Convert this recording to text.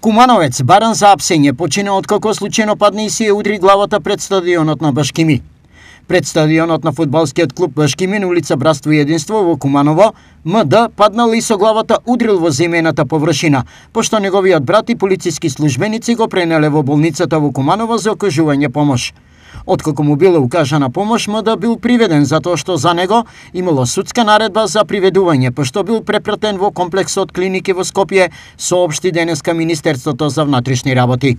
Кумановец баран за апсење почина откако случајно падна и си ја удри главата пред стадионот на Башкими. Пред стадионот на фудбалскиот клуб Башкими на улица Братство и единство во Куманово, МД паднал и со главата удрил во земената површина, пошто неговиот брат и полициски службеници го пренеле во болницата во Куманово за окажување помош. Откако му била укажана помош, МД бил приведен затоа што за него имало судска наредба за приведување, пошто бил препратен во комплексот клиники во Скопје, соопшти денеска Министерството за внатрешни работи.